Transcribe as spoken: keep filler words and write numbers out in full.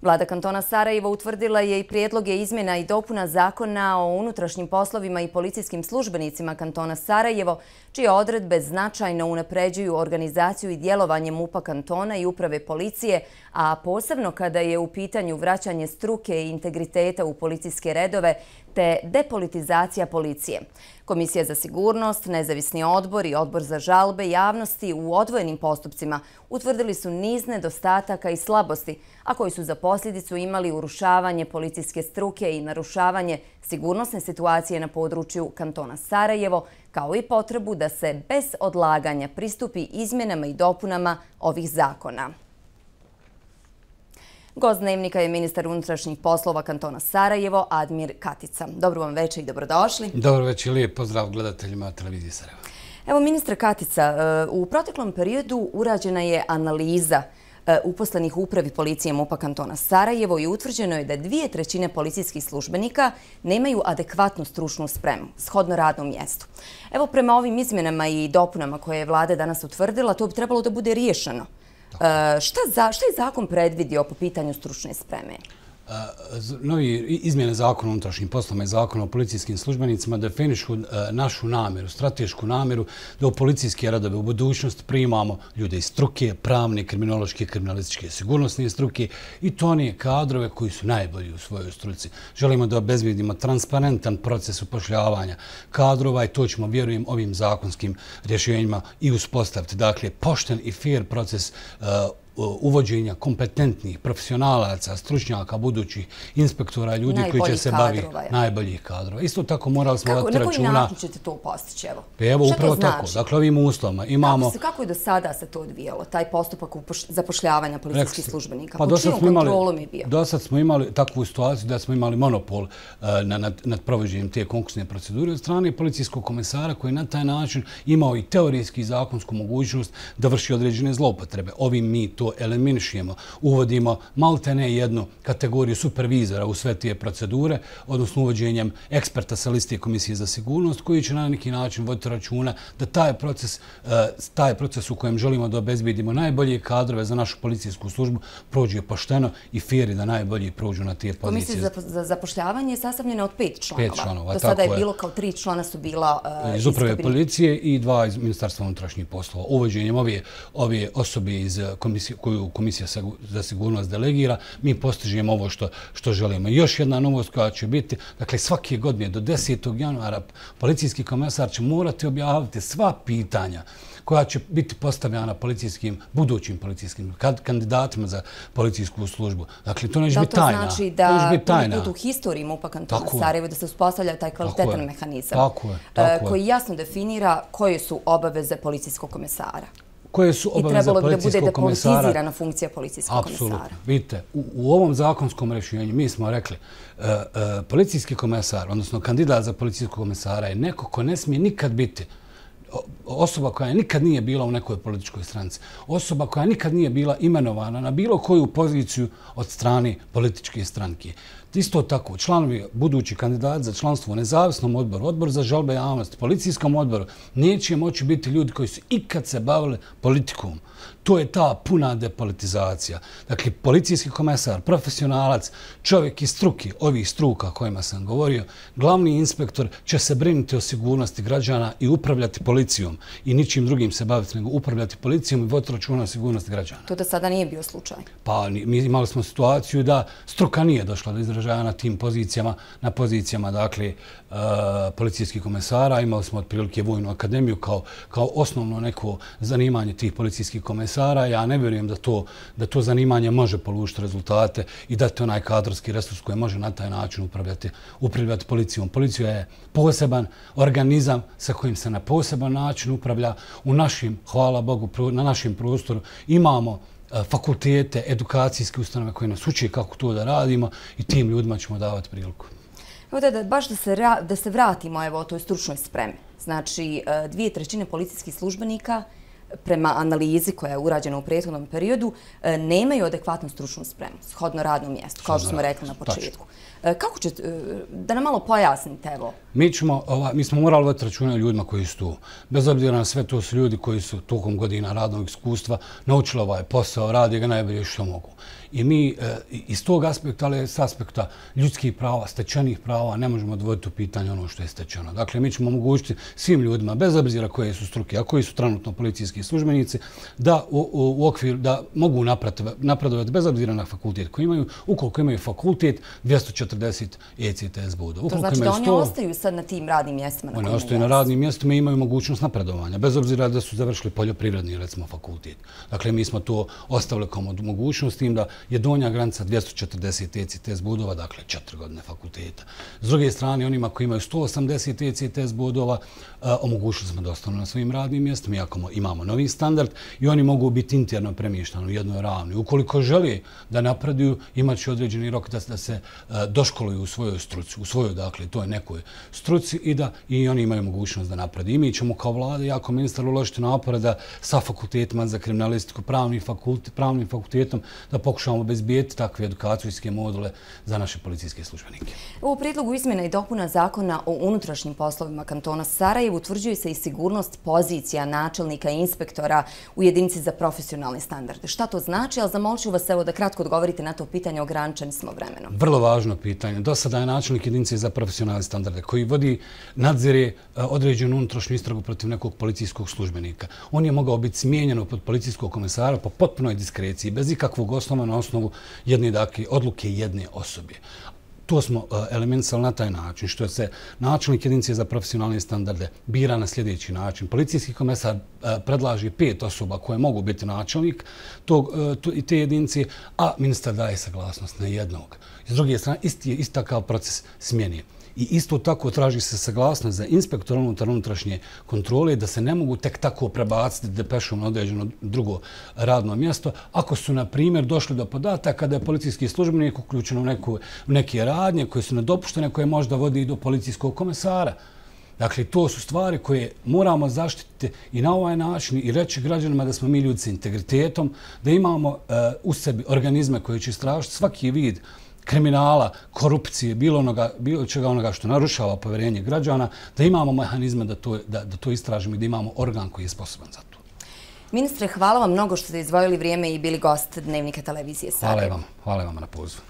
Vlada kantona Sarajevo utvrdila je i prijedloge izmjena i dopuna Zakona o unutrašnjim poslovima i policijskim službenicima kantona Sarajevo, čije odredbe značajno unapređuju organizaciju i djelovanje MUP-a kantona i uprave policije, a posebno kada je u pitanju vraćanje struke i integriteta u policijske redove te depolitizacija policije. Komisija za sigurnost, nezavisni odbor i odbor za žalbe javnosti u odvojenim postupcima utvrdili su niz nedostataka i slabosti, a koji su za posljedicu imali urušavanje policijske struke i narušavanje sigurnosne situacije na području kantona Sarajevo, kao i potrebu da se bez odlaganja pristupi izmjenama i dopunama ovih zakona. Gost dnevnika je ministar unutrašnjih poslova kantona Sarajevo, Admir Katica. Dobro vam večer i dobrodošli. Dobro večer i lijep pozdrav gledateljima televizije Sarajevo. Evo, ministre Katica, u proteklom periodu urađena je analiza uposlenih u upravi policije MUP-a kantona Sarajevo i utvrđeno je da dvije trećine policijskih službenika nemaju adekvatnu stručnu spremu, shodno radnom mjestu. Evo, prema ovim izmjenama i dopunama koje je vlada danas utvrdila, to bi trebalo da bude riješeno. Šta je zakon predvidio po pitanju stručne spreme? Novi izmjene zakona o unutrašnjim poslovima i zakona o policijskim službenicima definišu našu namjeru, stratešku namjeru da u policijske radove u budućnosti primamo ljude iz struke, pravne, kriminološke, kriminalističke, sigurnosne struke i to one kadrove koji su najbolji u svojoj struci. Želimo da obezbijedimo transparentan proces upošljavanja kadrova i to ćemo, vjerujem, ovim zakonskim rješenjima i uspostaviti. Dakle, pošten i fair proces uvođenja kompetentnih profesionalaca, stručnjaka, budućih inspektora, ljudi koji će se baviti najboljih kadrova. Isto tako morali smo voditi računa... Na koji način ćete to postići? Evo, upravo tako. Dakle, ovim uslovima imamo... Kako je do sada se to odvijalo, taj postupak zapošljavanja policijskih službenika? Po čijom kontrolom je bio? Do sad smo imali takvu situaciju da smo imali monopol nad provođenjem te konkursne procedure od strane policijskog komesara koji na taj način imao i teorijski i zakonsku mogućnost da vrši određene zloupotrebe. Ovim mi to eliminišemo, uvodimo maltene jednu kategoriju supervizora u sve te procedure, odnosno uvođenjem eksperta sa liste Komisije za sigurnost, koji će na neki način voditi računa da taj proces, taj proces u kojem želimo da obezbijedimo najbolje kadrove za našu policijsku službu prođe pošteno i fair i da najbolji prođu na te pozicije. Komisija za zapošljavanje je sastavljena od pet članova. Pet članova, do sada je bilo kao tri člana su bila iz uprave policije i dva iz Ministarstva unutrašnjih poslova. Uvođenjem ove, ove osobe iz komisije koju Komisija za sigurnost delegira, mi postižemo ovo što, što želimo. Još jedna novost koja će biti, dakle svake godine do desetog januara policijski komesar će morati objaviti sva pitanja koja će biti postavljena policijskim, budućim policijskim kandidatima za policijsku službu. Dakle, to neće biti tajna. Da li to znači da prvi put u historiji MUP-a kantona Sarajevo da se uspostavlja taj kvalitetan mehanizam koji jasno definira koje su obaveze policijskog komesara? Koje su obaveze policijskog komesara? I trebalo bi da bude depolitizirana funkcija policijskog komesara. Apsolutno. Vidite, u ovom zakonskom rješenju mi smo rekli policijski komesar, odnosno kandidat za policijskog komesara je neko ko ne smije nikad biti osoba koja nikad nije bila u nekoj političkoj stranci, osoba koja nikad nije bila imenovana na bilo koju poziciju od strane političke stranke. Isto tako, članovi, budući kandidati za članstvo u nezavisnom odboru, odboru za žalbe javnosti, policijskom odboru, neće moći biti ljudi koji su ikad se bavili politikom. To je ta puna depolitizacija. Dakle, policijski komesar, profesionalac, čovjek iz struke, ovih struka kojima sam govorio, glavni inspektor će se brinuti o sigurnosti građana i upravljati policijom i ničim drugim se baviti nego upravljati policijom i voditi računa o sigurnosti građana. To do sada nije bio slučaj? Pa mi imali smo situaciju da struka nije došla do izražaja na tim pozicijama, na pozicijama, dakle, policijskih komesara. Imali smo otprilike Vojnu akademiju kao, kao osnovno neko zanimanje tih policijskih komesara. Ja ne vjerujem da to, da to zanimanje može polučiti rezultate i dati onaj kadrovski resurs koji može na taj način upravljati, upravljati policijom. Policija je poseban organizam sa kojim se na poseban način upravlja. U našim, hvala Bogu, na našem prostoru imamo fakultete, edukacijske ustanove koje nas uče kako to da radimo i tim ljudima ćemo davati priliku. Evo da, baš da se, da se vratimo evo, o toj stručnoj spremi. Znači, dvije trećine policijskih službenika prema analizi koja je urađena u prethodnom periodu, nemaju adekvatnu stručnu spremu, shodno radnom mjestu, kao što smo rekli na početku. Kako će, da nam malo pojasnite, evo? Mi, ćemo, ova, mi smo morali voditi računa o ljudima koji su tu. Bez obzira na sve, to su ljudi koji su tokom godina radnog iskustva naučili ovaj posao, radi ga najbolje što mogu. I mi iz tog aspekta, ali s aspekta ljudskih prava, stečenih prava, ne možemo odvojiti u pitanje ono što je stečeno. Dakle, mi ćemo omogućiti svim ljudima, bez obzira koje su struke, a koji su trenutno policijski službenici, da u okviru, da mogu napredovati bez obzira na fakultet koji imaju, ukoliko imaju fakultet dvjesto četrdeset E C T S bodova. To znači da oni ostaju sad na tim radnim mjestima? Oni ostaju na radnim mjestima i imaju mogućnost napredovanja, bez obzira da su završili poljoprivredni, recimo, fakultet. Dakle, mi smo to ostavili kao mogućnost tim da je donja granica dvjesto četrdeset E C T S bodova, dakle, četiri godine fakulteta. S druge strane, onima koji imaju sto osamdeset E C T S bodova, omogućili smo da ostanu na svojim radnim mjestima, iako imamo novi standard i oni mogu biti interno premještani u jednoj ravni. Ukoliko žele da napreduju, imat će određeni rok da se doškoluju u svojoj struci, u svojoj, dakle, to je nekoj struci i da i oni imaju mogućnost da napreduju. I mi ćemo kao vlada, jako ministar, uložiti napore da sa fakultetima za kriminalistiku, pravnim fakultetom, da pokušamo obezbijeti takve edukacijske module za naše policijske službenike. U prijedlogu izmjena i dopuna zakona o unutrašnjim poslovima kantona Sarajevo utvrđuje se i sigurnost pozicija načelnika i inspektora u jedinici za profesionalne standarde. Šta to znači? Ali zamolit ću vas evo da kratko odgovorite na to pitanje, ograničeni smo vremenom. Vrlo važno pitanje. Do sada je načelnik jedinice za profesionalne standarde koji vodi, nadzire određenu unutrašnju istragu protiv nekog policijskog službenika. On je mogao biti smijenjen od policijskog komisara po potpunoj diskreciji, bez ikakvog osnova na osnovu jedne, dakle, odluke jedne osobe. To smo eliminisali na taj način, što se načelnik jedinice za profesionalne standarde bira na sljedeći način. Policijski komesar predlaže pet osoba koje mogu biti načelnik te jedinice, a ministar daje saglasnost na jednog. S druge strane, isti je isti takav proces smjene. I isto tako traži se saglasnost za inspektora unutar unutrašnje kontrole da se ne mogu tek tako prebaciti depešom na određeno drugo radno mjesto ako su, na primjer, došli do podataka da je policijski službenik uključen u neke radnje koje su nedopuštene, koje možda vodi i do policijskog komesara. Dakle, to su stvari koje moramo zaštititi i na ovaj način i reći građanima da smo mi ljudi s integritetom, da imamo u sebi organizme koje će istražiti svaki vid kriminala, korupcije, bilo, onoga, bilo čega onoga što narušava povjerenje građana, da imamo mehanizme da to, da, da to istražimo i da imamo organ koji je sposoban za to. Ministre, hvala vam mnogo što ste izdvojili vrijeme i bili gost Dnevnika televizije Sarajevo. Hvala vam, hvala vam na pozivu.